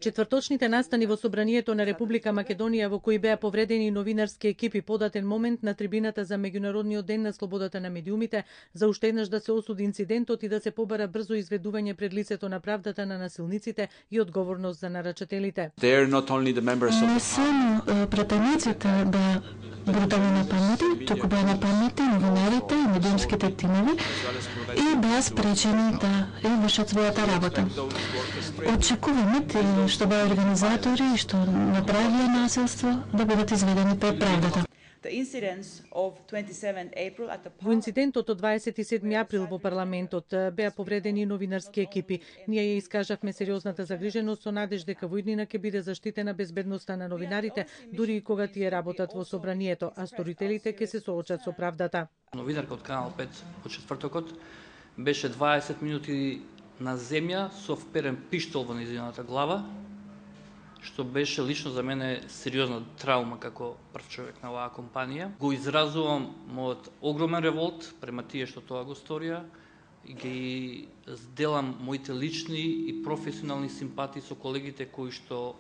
Четврточните настани во Собранието на Република Македонија, во кои беа повредени новинарски екипи, податен момент на трибината за Меѓународниот ден на слободата на медиумите, за уште еднаш да се осуди инцидентот и да се побара брзо изведување пред лицето на правдата на насилниците и одговорност за нарачателите. Не само пратениците беа брутално нападнати, туку беа нападнати новинарите и медиумските тимови и беа спречени да вршат својата работа. Очекуваме тие што беа организатори и што направиле насилство да бидат изведени пред правдата. Во инцидентот од 27 април во парламентот беа повредени новинарски екипи. Ние ја искажавме сериозната загриженост со надеж дека во иднина ќе биде заштитена безбедноста на новинарите, дури и кога тие работат во Собранието, а сторителите ќе се соочат со правдата. Новинарка од Канал 5 од четвртокот беше 20 минути на земја со вперен пиштол во нејзината глава, што беше лично за мене сериозна траума како прв човек на оваа компанија. Го изразувам мојот огромен револт према тие што тоа го сторија и ги зделам моите лични и професионални симпатии со колегите кои што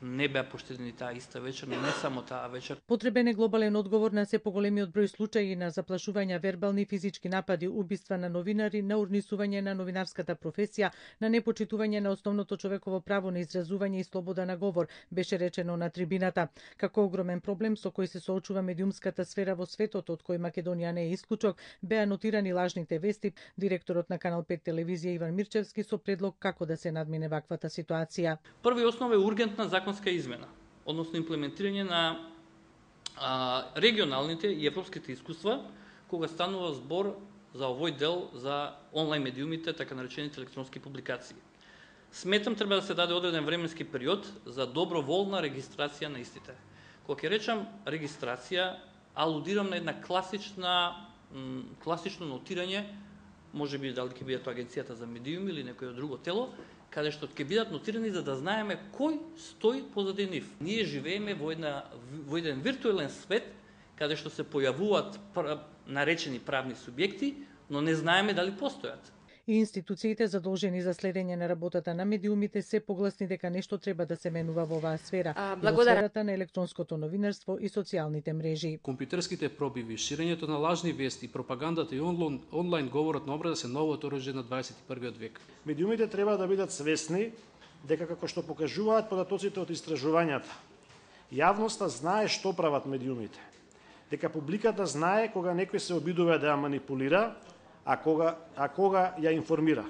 не беа поштедени таа иста вечер, но не само таа вечер. Потребен е глобален одговор на се поголемиот број случаи на заплашувања, вербални и физички напади, убиства на новинари, на урнисување на новинарската професија, на непочитување на основното човеково право на изразување и слобода на говор, беше речено на трибината. Како огромен проблем со кој се соочува медиумската сфера во светот, од кој Македонија не е исклучок, беа нотирани лажните вести. Директорот на Канал 5 телевизија Иван Мирчевски со предлог како да се надмине ваквата ситуација. Први основа е ургентна законска измена, односно имплементирање на регионалните и европските искуства, кога станува збор за овој дел за онлайн медиумите, така наречените електронски публикации. Сметам треба да се даде одреден временски период за доброволна регистрација на истите. Кога ќе речам регистрација, алудирам на една класично нотирање, може би дали ќе биде тоа Агенцијата за медиуми или некој друго тело, каде што ќе бидат нотирани за да знаеме кој стои позади нив. Ние живееме во еден виртуелен свет, каде што се појавуваат наречени правни субјекти, но не знаеме дали постојат. И институциите задолжени за следење на работата на медиумите се погласни дека нешто треба да се менува во оваа сфера, во сферата на електронското новинарство и социјалните мрежи. Компјутерските пробиви, ширењето на лажни вести, пропагандата и онлайн говорот на омраза се новото оружје на 21 век. Медиумите треба да бидат свесни дека како што покажуваат податоците од истражувањата, јавноста знае што прават медиумите, дека публиката знае кога некој се обидува да ја манипулира, а кога ја информира.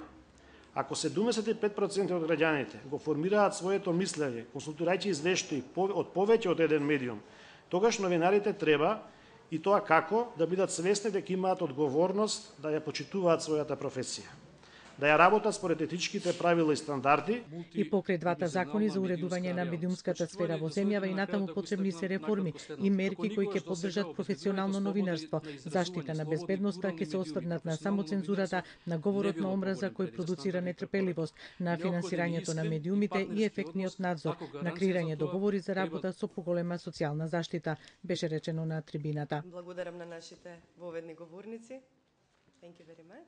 Ако 75% од граѓаните го формираат своето мислење, консултирајќи извештаи од повеќе од еден медиум, тогаш новинарите треба, и тоа како, да бидат свесни дека имаат одговорност да ја почитуваат својата професија, да ја работат според етичките правила и стандарди. И покрај двата закони за уредување на медиумската сфера во земјава и натаму потребни се реформи и мерки кои ќе поддржат професионално новинарство, заштита на безбедноста, ќе се осврнат на самоцензурата, на говорот на омраза кој продуцира нетрпеливост, на финансирањето на медиумите и ефектниот надзор, на креирање договори за работа со поголема социјална заштита, беше речено на трибината. Благодарам на нашите воведни говорници. Thank you very much.